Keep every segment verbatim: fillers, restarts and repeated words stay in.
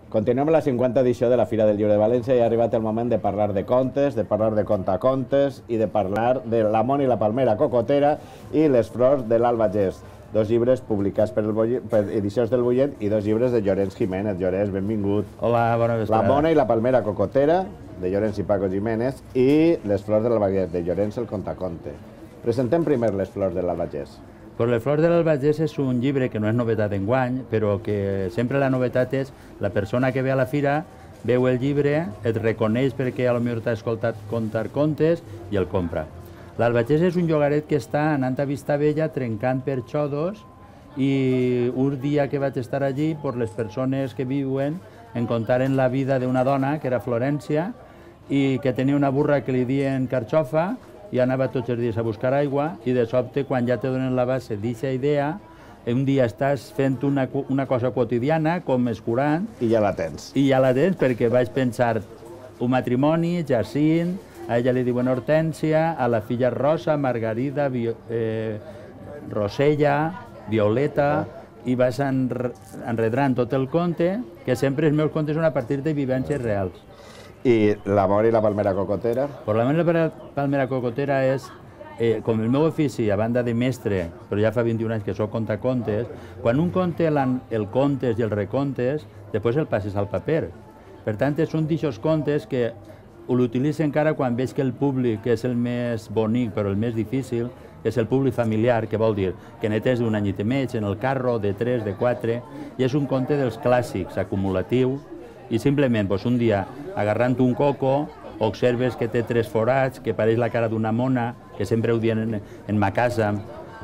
Continuem la cinquanta edició de la Fira del Llibre de València i ha arribat el moment de parlar de contes, de parlar de contacontes i de parlar de La Mona i la Palmera Cocotera i Les Flors de l'Albagés, dos llibres publicats per, el per Edicions del Bullent i dos llibres de Llorenç Jiménez. Llorenç, benvingut. Hola, bona vesprada. La Mona i la Palmera Cocotera, de Llorenç i Paco Jiménez, i Les Flors de l'Albagés, de Llorenç el Contaconte. Presentem primer Les Flors de l'Albagés. Pues Les Flors de l'Albagés és un llibre que no és novetat d'enguany, però que sempre la novetat és la persona que ve a la fira, veu el llibre, et reconeix perquè potser t'ha escoltat contar contes i el compra. L'Albagés és un llogaret que està anant a Vistabella trencant per xodos i un dia que vaig estar allí, per les persones que viuen, em contaren la vida d'una dona, que era Florència, i que tenia una burra que li diuen Carxofa, i anava tots els dies a buscar aigua, i de sobte, quan ja te donen la base d'aquesta idea, un dia estàs fent una, una cosa quotidiana, com escurant... I ja la tens. I ja la tens, perquè vaig pensar un matrimoni, Jacint, a ella li diuen Hortència, a la filla Rosa, Margarida, Vio, eh, Rosella, Violeta, i vas enre, enredrant tot el conte, que sempre els meus contes són a partir de vivències reals. I La Mona i la Palmera Cocotera? Pues La Mona i la Palmera Cocotera és, eh, com el meu ofici, a banda de mestre, però ja fa vint-i-un anys que soc contacontes, quan un conte el contes i el recontes, després el passes al paper. Per tant, són d'aixòs contes que l'utilitzo encara quan veig que el públic, que és el més bonic però el més difícil, és el públic familiar, que vol dir que netes d'un anyet i mig, en el carro, de tres, de quatre, i és un conte dels clàssics, acumulatiu, i simplement un dia, agarrant un coco, observes que té tres forats, que pareix la cara d'una mona, que sempre ho diuen en, en ma casa,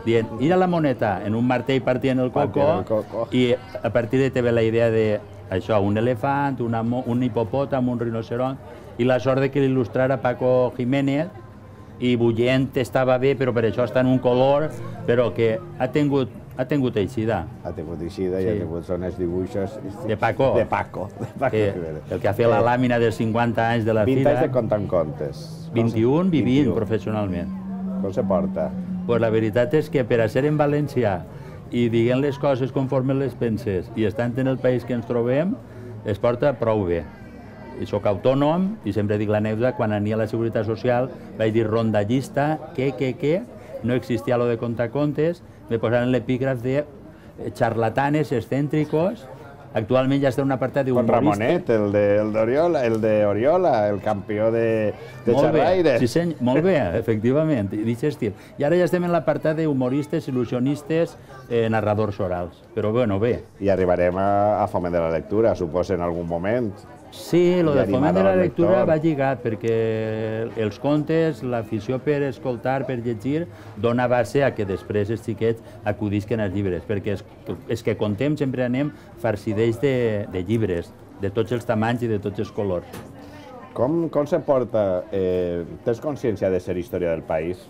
dient, ira la moneta, en un martell partient el coco, i a partir de te ve la idea de això, un elefant, una, un hipopòtam, un rinoceront, i la sort de que l'il·lustrara Paco Jiménez, i Bullent estava bé, però per això està en un color, però que ha tingut Ha tingut eixida. Ha tingut eixida i ha tingut són els dibuixos... De Paco. De Paco. El que ha fet la làmina dels cinquanta anys de la fira... vint anys de contant contes. vint-i-un vivint professionalment. Com se porta? Pues la veritat és que per a ser en valencià i dient les coses conforme les penses i estant en el país que ens trobem, es porta prou bé. I soc autònom i sempre dic l'anècdota, quan ania a la Seguretat Social vaig dir rondallista, que, que, que, no existia lo de contar contes, me posaran l'epígraf de charlatanes excéntricos. Actualment ja està en un apartat d'humoristes. Con Ramonet, el d'Oriola, el d'Oriola, el campió de xerraire. Sí, senyor, molt bé, efectivament, d'aquest estil. I ara ja estem en l'apartat d'humoristes, il·lusionistes, narradors orals. Però bueno, bé. I arribarem a Foment de la Lectura, suposo, en algun moment. Sí, el de Foment de la Lectura va lligat, perquè els contes, l'afició per escoltar, per llegir, dona base a que després els xiquets acudisquen als llibres, perquè els que contem sempre anem farcideix de llibres, de tots els tamanys i de tots els colors. Com se porta? Tens consciència de ser història del país?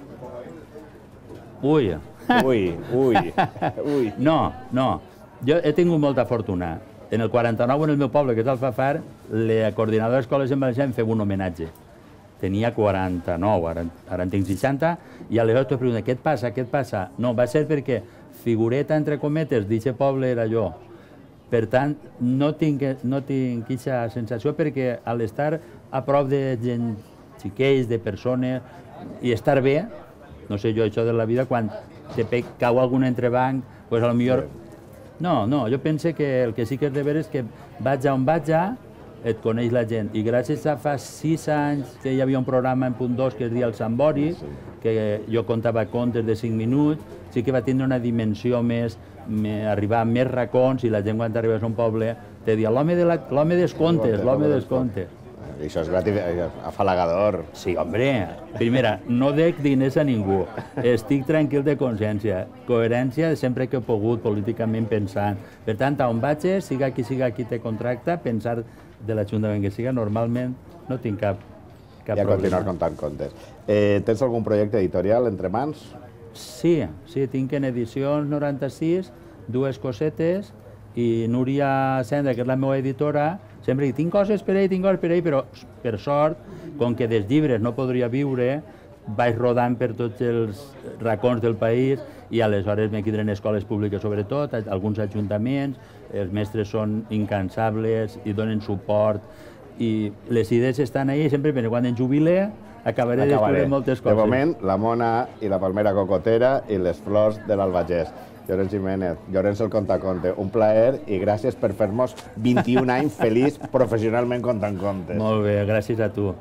Ui. Ui, ui. No, no. Jo he tingut molta fortuna. En el quaranta-nou, en el meu poble, que és Alfafar, la coordinadora d'escoles en valencià em feia un homenatge. Tenia quaranta-nou, ara en tinc seixanta, i aleshores t'ho pregunto, què et passa, què et passa? No, va ser perquè figureta, entre cometes, d'aquest poble era jo. Per tant, no tinc aquesta sensació, perquè a l'estar a prop de gent xiquets, de persones, i estar bé, no sé jo, això de la vida, quan te cau algun entrebanc, doncs potser... No, no, jo penso que el que sí que és de veure és que vaig a on vaig a, et coneix la gent. I gràcies a fa sis anys que hi havia un programa en Punt dos que es deia El Sambori, que jo contava contes de cinc minuts, sí que va tindre una dimensió més, arribar a més racons, i la gent quan arribes a un poble te dia l'home dels contes, l'home dels contes. Això és afalagador. Sí, home, primera, no dec diners a ningú, estic tranquil de consciència, coherència sempre que he pogut políticament pensant. Per tant, on vaig, siga qui siga qui te contracta, pensar de l'Ajuntament que siga, normalment no tinc cap problema. I a continuar contant contes. Tens algun projecte editorial entre mans? Sí, sí, tinc en Edicions noranta-sis dues cosetes, i Núria Sendra, que és la meva editora, sempre dic, tinc coses per ell, tinc coses per ell, però per sort, com que dels llibres no podria viure, vaig rodant per tots els racons del país i aleshores me queden escoles públiques sobretot, alguns ajuntaments, els mestres són incansables i donen suport i les idees estan ahí, sempre però quan em jubile acabaré descobrint moltes coses. De moment, la Mona i la Palmera Cocotera i les flors de l'Albagés. Llorenç Jiménez, Llorenç el Contaconte, un plaer i gràcies per fer-nos vint-i-un anys feliç professionalment contant contes. Molt bé, gràcies a tu.